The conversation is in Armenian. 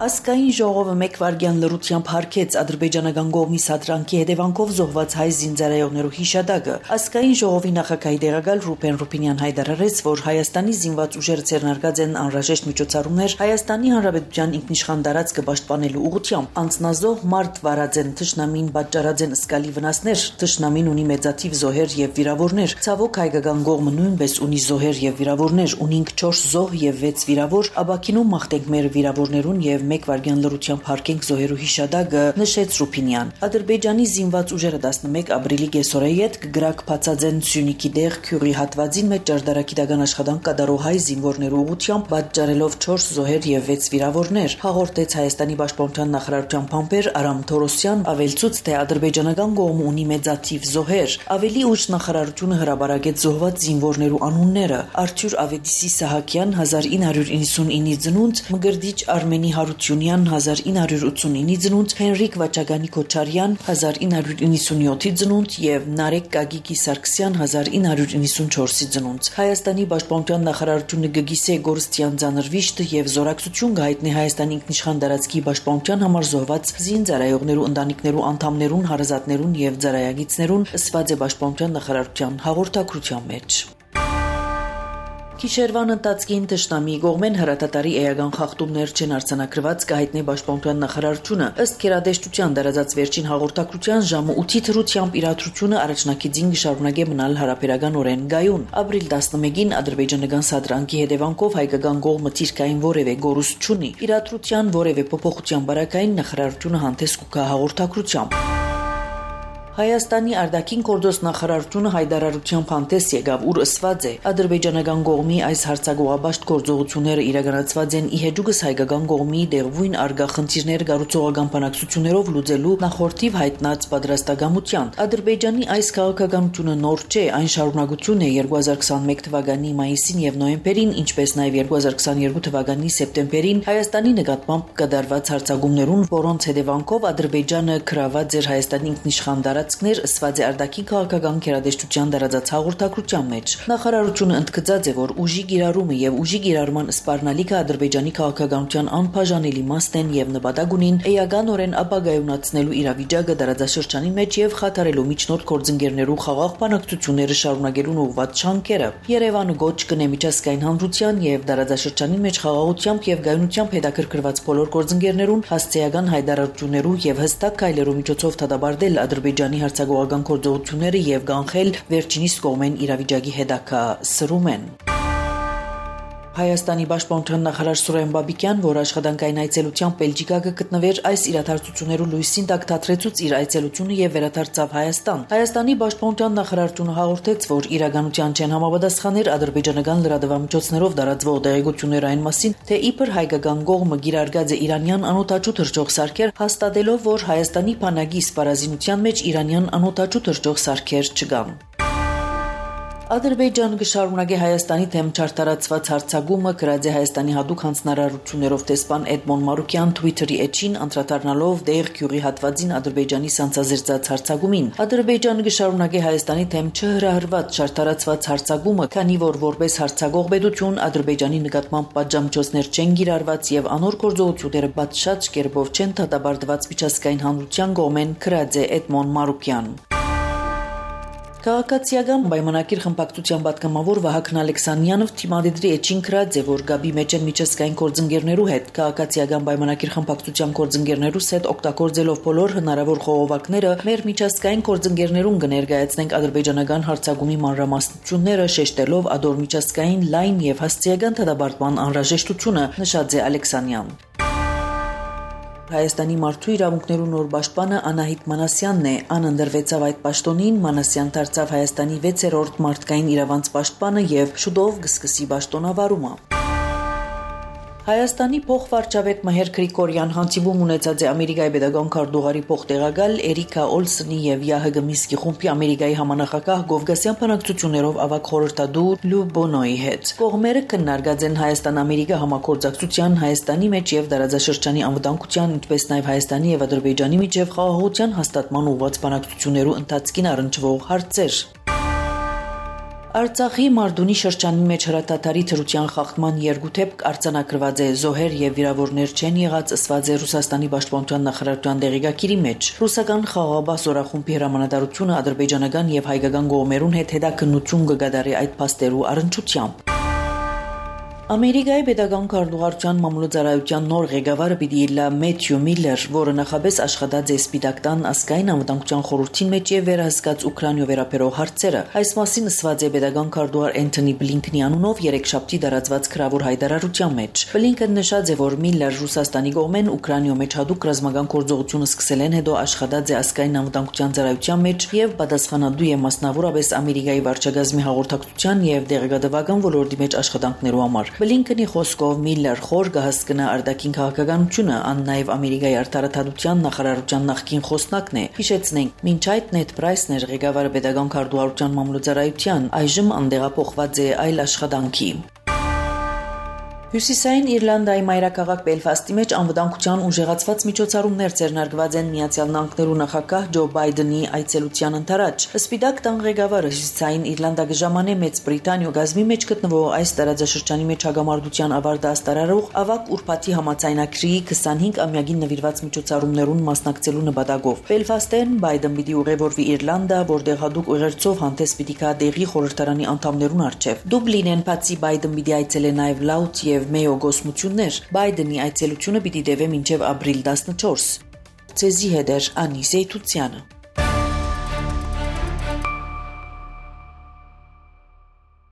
Ասկային ժողովը մեկ վայրկյան լռությամբ հարգեց ադրբեջանական կողմի սադրանքի հետևանքով զոհված հայ զինծառայողներու հիշադակը։ Ասկային ժողովի նախագահի տեղակալ Ռուբեն Ռուբինյան հայտարարեց, որ Հայաստանի զինված ուժերը ձեռնարկած են անհրաժեշտ միջոցառումներ Հայաստանի Հանրապետության ինքնիշխան տարածքը պաշտպանելու ուղղությամբ։ Անձնազոհ մարդ վարած են, թշնամին պատճառած են զգալի վնասներ, թշնամին ունի մեծաթիվ զոհեր եւ վիրավորներ։ Ցավոք հայկական կողմը նույնպես ունի զոհեր եւ վիրավորներ, ունինք 4 զոհ եւ 6 վիրավոր, Աբաքինում մաղթենք մեր վիրավորներուն եւ մեկ վայրկյան լռությամբ հարգենք զոհերու հիշադակը, նշեց Ռուբինյան։ Ադրբեջանի զինված ուժերը 11 ապրիլի կեսօրի հետ կգրակ փածած են Սյունիքի դեղ Քյուրի հատվածին մեջ ճարտարագիտական աշխատանք կատարող հայ զինվորներու ուղղությամբ պատճառելով 4 զոհեր եւ 6 վիրավորներ, հաղորդեց Հայաստանի պաշտպանության նախարարության փամփեր Արամ Թորոսյան, ավելցուց թե ադրբեջանական կողմը ունի մեծաթիվ զոհեր։ Ավելի ուշ նախարարությունը հրաբարակեց զոհված զինվորներու անունները՝ Արթուր Ավետիսի Սահակյան 1999-ի ծնունդ, Մգրդիչ Արմենի Հարությունյան 1989-ի ծնունդ, Հենրիկ Վաչագանի Քոչարյան 1997-ի ծնունդ եւ Նարեկ Գագիկի Սարգսյան 1994-ի ծնունդ։ Հայաստանի պաշտպանության նախարարությունը գգիսե գործիան ցանրվիշտ եւ զորակցություն գայտնի Հայաստանի ինքնիշխան տարածքի պաշտպանության համար զոհված զինծառայողներու ընտանիքներու անդամներուն, հարազատներուն եւ ծառայագիցներուն ըսված է պաշտպանության նախարարության հաղորդակցության մեջ։ Գիշերվան ընթացքին թշնամի կողմեն հրատատարի էական խախտումներ չեն արձանագրված կհայտնի պաշտպանության նախարարությունը ըստ գերատեսչության դարածած վերջին հաղորդակցության ժամը 8-ի թրությամբ իրադրությունը առաջնակիցին կշարունակե մնալ հարաբերականորեն գայուն։ Ապրիլ 11-ին ադրբեջանական սադրանքի հետևանքով հայկական կողմը ցիրկային որևէ գորուստ չունի։ Իրադրության որևէ փոփոխության բարակային նախարարությունը հանդես կգա հաղորդակցությամբ։ Հայաստանի արտաքին գործոս նախարարությունը հայտարարությամբ հանդես եկավ, ուր ըսված է. ադրբեջանական կողմի այս հարցագողաբաշտ գործողությունները իրականացված են ի հեճուկս հայկական կողմի դեղույն արգա խնդիրներ կառուցողական բանակցություններով լուծելու նախորդիվ հայտնած պատրաստակամության։ Ադրբեջանի այս քաղաքականությունը նոր չէ, այն շարունակություն է 2021 թվականի մայիսին եւ նոյեմբերին, ինչպես նաեւ 2022 թվականի սեպտեմբերին Հայաստանի նկատմամբ կատարված հարձակումներուն, որոնց հետևանքով Ադրբեջանը գրաված էր Հայաստանի ինքնիշխան տարածքներ ըսված է արտաքին քաղաքական գերատեսչության դարածած հաղորդակցության մեջ։ Նախարարությունը ընդգծած է, որ ուժի կիրառումը եւ ուժի կիրառման սպառնալիքը Ադրբեջանի քաղաքականության անբաժանելի մասն են եւ նպատակ ունին էականորեն ապագայունացնելու իրավիճակը դարածաշրջանի մեջ եւ խաթարելու միջնորդ գործընկերներու խաղաղ բանակցությունները շարունակելուն ուղղված շանքերը։ Երևանը գոչ կնե միջազգային հանրության եւ դարածաշրջանի մեջ խաղաղությամբ եւ գայունությամբ հետաքրքրված բոլոր գործընկերներուն հասցեական հայտարարություններու եւ հստակ քայլերու միջոցով դադարել Ադրբեջանի հարցագողական գործողությունները եւ կանխել վերջինիս կողմեն իրավիճակի հետագա սրումեն։ Հայաստանի պաշտպանության նախարար Սուրեն Բաբիկյան, որ աշխատանքային այցելությամբ Բելգիկա կգտնվեր, այս իրադարձություններու լույսին տակ թատրեցուց իր այցելությունը եւ վերադարձավ Հայաստան։ Հայաստանի պաշտպանության նախարարությունը հաղորդեց, որ իրականության չեն համապատասխաներ ադրբեջանական լրատվամիջոցներով տարածվող տեղեկություններ այն մասին, թե իբր հայկական կողմը գիրարգած է իրանյան անօթաչու թռչող սարքեր, հաստատելով, որ Հայաստանի բանակի սպառազինության մեջ իրանյան անօթաչու թռչող սարքեր չկան։ Ադրբեջանը կշարունակի Հայաստանի թեմ չարտարացված հարձակումը, գրած է Հայաստանի հատուկ հանձնարարություններով տեսփան Էդմոն Մարուկյան Twitter-ի էջին անդրադառնալով դեղ Քյուրի հատվածին Ադրբեջանի սանձազերծած հարձակումին։ Ադրբեջանը կշարունակի Հայաստանի թեմ չհրահրված չարտարացված հարձակումը, քանի որ որպես հարձակող պետություն Ադրբեջանի նկատմամբ պատժամիջոցներ չեն կիրառված եւ անոր գործողությունները պատշաճ կերպով չեն դատապարտված միջազգային հանրության կողմեն, գրած է Էդմոն Մարուկյան։ Քաղաքացիական պայմանագիր խմբակցության պատգամավոր Վահագն Ալեքսանյանով թիմադեդրի էջին գրած է, որ գաբի մեջ են միջազգային գործընկերներու հետ, քաղաքացիական պայմանագիր խմբակցության գործընկերներուս հետ օգտագործելով բոլոր հնարավոր խողովակները, մեր միջազգային գործընկերներուն կներկայացնենք ադրբեջանական հարձակումի մանրամասնությունները, շեշտելով ադոր միջազգային լայն եւ հասցեական դատապարտման անհրաժեշտությունը, նշած է Ալեքսանյան։ Հայաստանի մարդու իրավունքներու նոր պաշտպանը Անահիտ Մանասյանն է, անընդրվեցավ այդ պաշտոնին, Մանասյան դարձավ Հայաստանի 6-րդ մարդկային իրավանց պաշտպանը եւ շուտով կսկսի պաշտոնավարումը։ Հայաստանի փոխվարչապետ Մհեր Գրիգորյան հանդիպում ունեցած է Ամերիկայի պետական քարտուղարի փոխտեղակալ Էրիկա Օլսոնի եւ ՀՀԳ Միսկի խումբի Ամերիկայի համանախագահ Գովգասյան բանակցություններով ավագ խորհրդադու Լու Բոնոյի հետ։ Կողմերը քննարկած են Հայաստան-Ամերիկա համագործակցության, Հայաստանի մեջ եւ տարածաշրջանի անվտանգության, ինչպես նաեւ Հայաստանի եւ Ադրբեջանի միջև խաղաղության հաստատման ուղղված բանակցություններու ընթացքին առնչվող հարցեր։ Արցախի Մարդունի շրջանի մեջ հրատատարի թրության խախտման երկութեփք արձանագրված է, զոհեր եւ վիրավորներ չեն եղած, ըսված է Ռուսաստանի պաշտպանության նախարարության դեղեկագիրի մեջ։ Ռուսական խաղաղաբաց օրախումբի հրամանատարությունը ադրբեջանական եւ հայկական կողմերուն հետ հետաքննություն կգադարի այդ փաստերու առնչությամբ։ Ամերիկայի պետական քարտուղարության մամուլոծարայության նոր ղեկավարը պիտի լա Մեթյու Միլլեր, որը նախապես աշխատած է Սպիտակտան ազգային անվտանգության խորհրդի մեջ եւ վերահսկած Ուկրաինա վերաբերող հարցերը։ Այս մասին ասված է պետական քարտուղար Էնթոնի Բլինքնի անունով երեքշաբթի դարածված քրավոր հայտարարության մեջ։ Բլինքն նշած է, որ Միլլեր Ռուսաստանի կողմեն Ուկրաինա մեջ հadoop ռազմական գործողությունը սկսել են, հետո աշխատած է ազգային անվտանգության ծառայության մեջ եւ պատասխանատու է մասնավորապես Ամերիկայի վարչագազմի հաղորդակցության եւ դեղեկատվական ոլորտի մեջ աշխատանքներու համար։ Բլինքնի խոսքով Միլլեր խոր կհասկնա արտաքին քաղաքականությունը, ան նաև Ամերիկայի արտարադատության նախարարության նախկին խոսնակն է։ Հիշեցնենք, մինչ այդ Նեդ Պրայսն էր ղեկավարը պետական քարտուղարության մամուլոծարայության, այժմ անդեղափոխված է այլ աշխատանքի։ Հյուսիսային Իռլանդիայի մայրաքաղաք Բելֆաստի մեջ անվտանգության ուժեղացված միջոցառումներ ձեռնարկված են Միացյալ Նահանգներու նախագահ Ջո Բայդենի այցելության ընթരാճ։ Սպիտակ տան ղեկավարը Հյուսիսային Իռլանդիա կժամանի Մեծ Բրիտանիա գազմի մեջ գտնվող այս տարածաշրջանի մեջ հագամարտության ավարտը աստարարող ավակ ուրբաթի համաձայնագրի 25-ամյակին նվիրված միջոցառումներուն մասնակցելու նպատակով։ Բելֆաստեն Բայդեն պիտի ուղևորվի Իռլանդիա, որտեղ հadoop ուղերձով հանդես պիտի գա դեղի խորհրդարանի անդամներուն առջև։ Դուբլինեն բացի Բայդեն պիտի այցելե նաև Լաուտ եւ Մեյո գոսմություններ։ Բայդենի այցելությունը պիտի տևե մինչև ապրիլ 14։ Ցեզի հետ Անի Զեյթուցյանը։